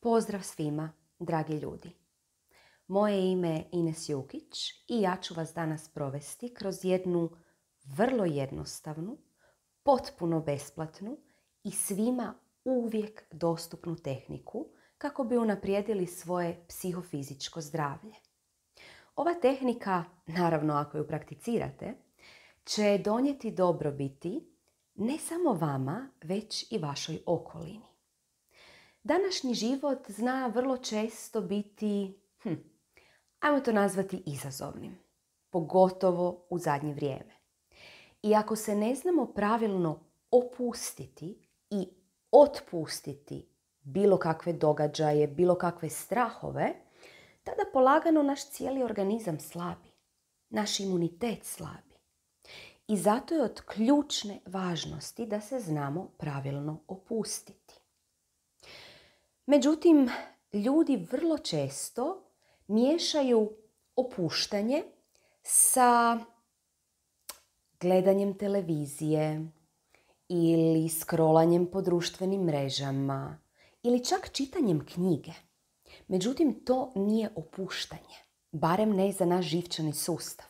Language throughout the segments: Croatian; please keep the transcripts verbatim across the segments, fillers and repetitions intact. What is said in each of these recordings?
Pozdrav svima, dragi ljudi. Moje ime je Ines Jukić i ja ću vas danas provesti kroz jednu vrlo jednostavnu, potpuno besplatnu i svima uvijek dostupnu tehniku kako bi unaprijedili svoje psihofizičko zdravlje. Ova tehnika, naravno ako ju prakticirate, će donijeti dobrobiti ne samo vama, već i vašoj okolini. Današnji život zna vrlo često biti, hm, ajmo to nazvati izazovnim, pogotovo u zadnje vrijeme. I ako se ne znamo pravilno opustiti i otpustiti bilo kakve događaje, bilo kakve strahove, tada polagano naš cijeli organizam slabi, naš imunitet slabi. I zato je od ključne važnosti da se znamo pravilno opustiti. Međutim, ljudi vrlo često miješaju opuštanje sa gledanjem televizije ili scrollanjem po društvenim mrežama ili čak čitanjem knjige. Međutim, to nije opuštanje, barem ne za naš živčani sustav.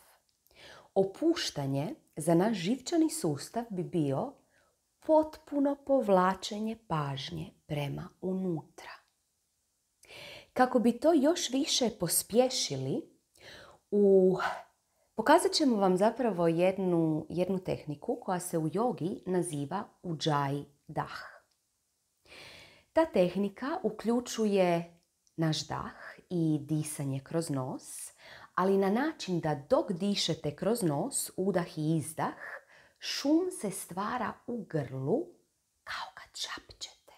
Opuštanje za naš živčani sustav bi bio potpuno povlačenje pažnje prema unutra. Kako bi to još više pospješili, u... pokazat ćemo vam zapravo jednu, jednu tehniku koja se u jogi naziva Ujjayi dah. Ta tehnika uključuje naš dah i disanje kroz nos, ali na način da dok dišete kroz nos, udah i izdah, šum se stvara u grlu kao kad šapćete.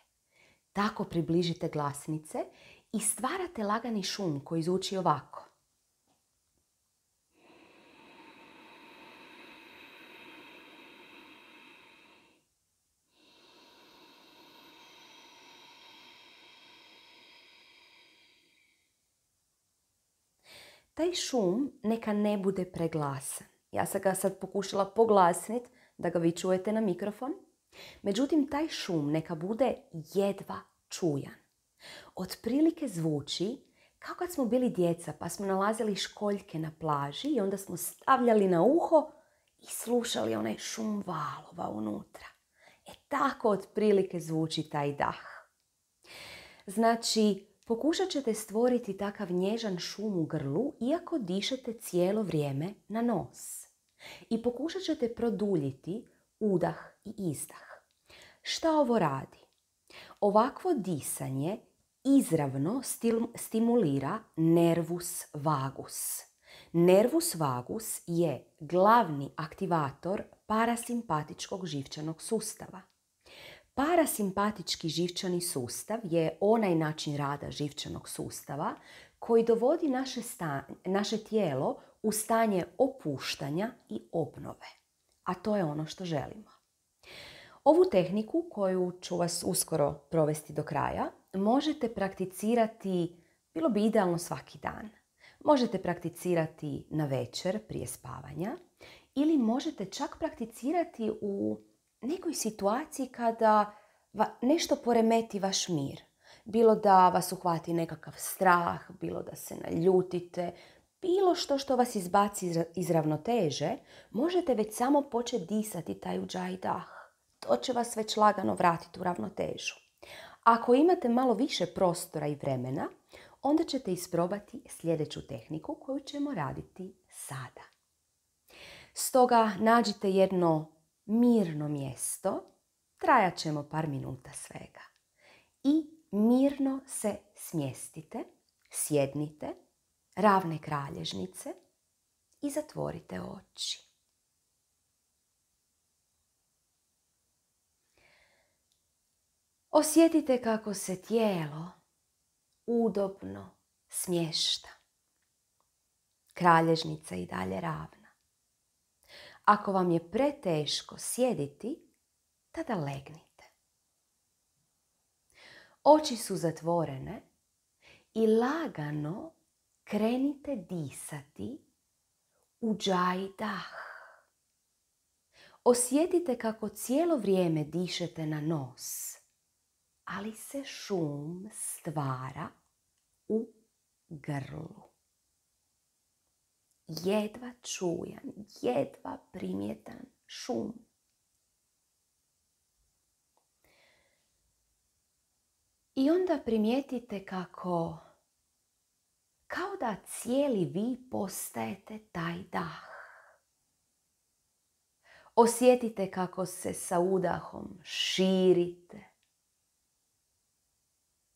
Tako približite glasnice i stvarate lagani šum koji zvuči ovako. Taj šum neka ne bude preglasan. Ja sam ga sad pokušala poglasniti da ga vi čujete na mikrofon. Međutim, taj šum neka bude jedva čujan. Otprilike zvuči kao kad smo bili djeca pa smo nalazili školjke na plaži i onda smo stavljali na uho i slušali onaj šum valova unutra. E tako otprilike zvuči taj dah. Znači, pokušat ćete stvoriti takav nježan šum u grlu iako dišete cijelo vrijeme na nos. I pokušat ćete produljiti udah i izdah. Šta ovo radi? Ovakvo disanje izravno stimulira nervus vagus. Nervus vagus je glavni aktivator parasimpatičkog živčanog sustava. Parasimpatički živčani sustav je onaj način rada živčanog sustava koji dovodi naše, sta, naše tijelo u stanje opuštanja i obnove. A to je ono što želimo. Ovu tehniku koju ću vas uskoro provesti do kraja možete prakticirati, bilo bi idealno svaki dan. Možete prakticirati na večer prije spavanja ili možete čak prakticirati u nekoj situaciji kada nešto poremeti vaš mir. Bilo da vas uhvati nekakav strah, bilo da se naljutite, bilo što što vas izbaci iz ravnoteže, možete već samo početi disati taj Ujjayi dah. To će vas već lagano vratiti u ravnotežu. Ako imate malo više prostora i vremena, onda ćete isprobati sljedeću tehniku koju ćemo raditi sada. Stoga nađite jedno mirno mjesto, trajat ćemo par minuta svega. I mirno se smjestite, sjednite, ravne kralježnice i zatvorite oči. Osjetite kako se tijelo udobno smješta. Kralježnica i dalje ravna. Ako vam je preteško sjediti, tada legnite. Oči su zatvorene i lagano krenite disati Ujjayi dah. Osjetite kako cijelo vrijeme dišete na nos, ali se šum stvara u grlu. Jedva čujan, jedva primjetan šum. I onda primijetite kako, kao da cijeli vi postajete taj dah. Osjetite kako se sa udahom širite,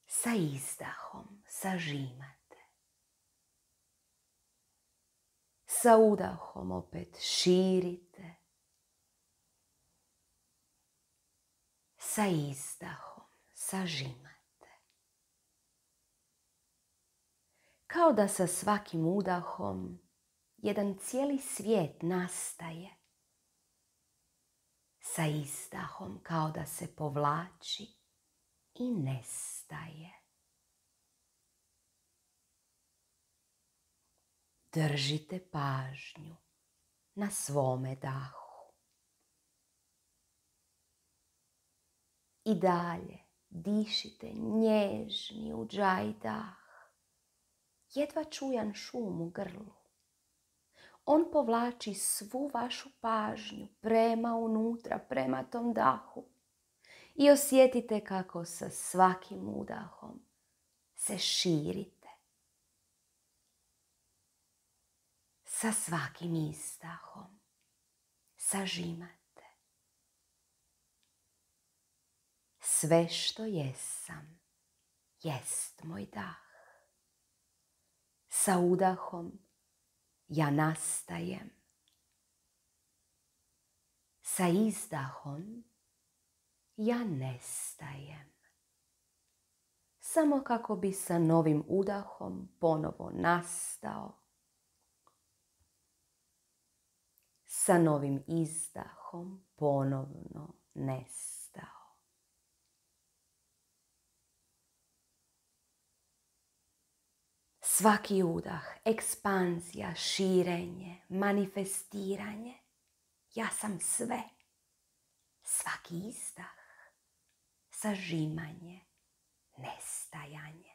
sa izdahom sažimate. Sa udahom opet širite, sa izdahom sažimate. Kao da sa svakim udahom jedan cijeli svijet nastaje. Sa izdahom kao da se povlači i nestaje. Držite pažnju na svome dahu. I dalje dišite nježni udžaj dah. Jedva čujan šum u grlu. On povlači svu vašu pažnju prema unutra, prema tom dahu. I osjetite kako sa svakim udahom se širite. Sa svakim izdahom sažimate. Sve što jesam, jest moj dah. Sa udahom ja nastajem. Sa izdahom ja nestajem. Samo kako bi sa novim udahom ponovo nastao. Sa novim izdahom ponovno nestao. Svaki udah, ekspanzija, širenje, manifestiranje. Ja sam sve. Svaki izdah, sažimanje, nestajanje,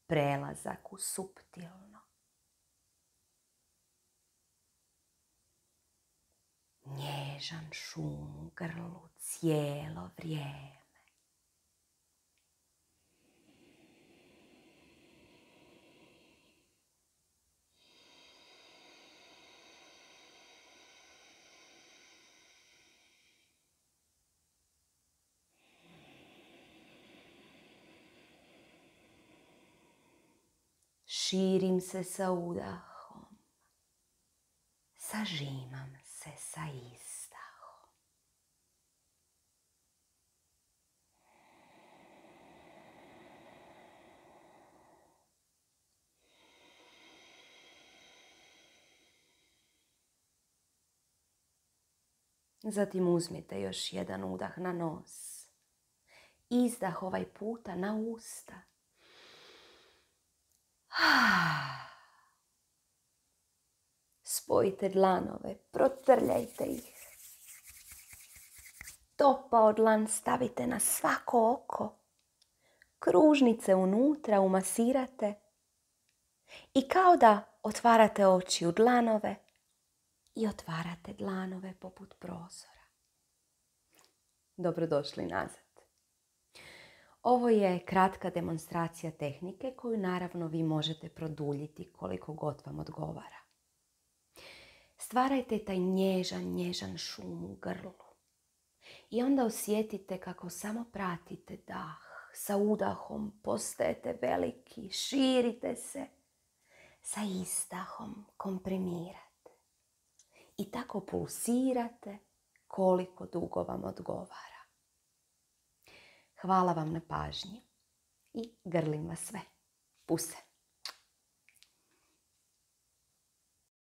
prelazak u suptilno. Nježan šum u grlu cijelo vrijeme. Širim se sa udahom, sažimam se sa izdahom. Zatim uzmite još jedan udah na nos. Izdah ovaj puta na usta. Spojite dlanove, protrljajte ih. Topao dlan stavite na svako oko. Kružnice unutra umasirate. I kao da otvarate oči u dlanove i otvarate dlanove poput prozora. Dobrodošli nazad. Ovo je kratka demonstracija tehnike koju naravno vi možete produljiti koliko god vam odgovara. Stvarajte taj nježan, nježan šum u grlu. I onda osjetite kako samo pratite dah. Sa udahom postajete veliki, širite se. Sa izdahom komprimirate. I tako pulsirate koliko dugo vam odgovara. Hvala vam na pažnji i grlim vas sve. Puse.